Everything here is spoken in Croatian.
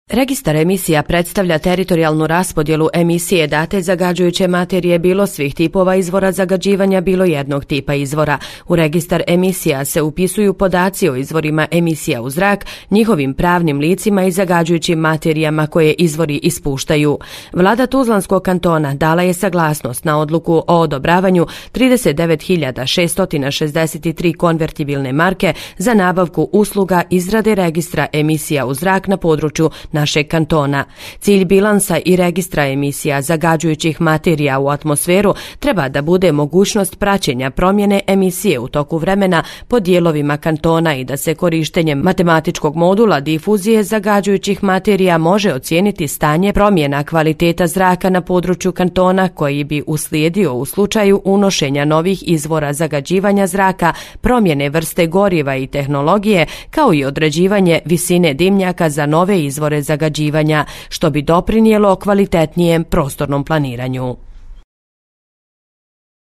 Registar emisija predstavlja teritorijalnu raspodjelu emisije date zagađujuće materije bilo svih tipova izvora zagađivanja, bilo jednog tipa izvora. U registar emisija se upisuju podaci o izvorima emisija u zrak, njihovim pravnim licima i zagađujućim materijama koje izvori ispuštaju. Vlada Tuzlanskog kantona dala je saglasnost na odluku o odobravanju 39.663 konvertibilne marke za nabavku usluga izrade registra emisija u zrak na području našeg kantona. Cilj bilansa i registra emisija zagađujućih materija u atmosferu treba da bude mogućnost praćenja promjene emisije u toku vremena po dijelovima kantona i da se korištenjem matematičkog modula difuzije zagađujućih materija može ocijeniti stanje promjena kvaliteta zraka na području kantona koji bi uslijedio u slučaju unošenja novih izvora zagađivanja zraka, promjene vrste goriva i tehnologije, kao i određivanje visine dimnjaka za nove izvore zagađivanja, što bi doprinijelo kvalitetnijem prostornom planiranju.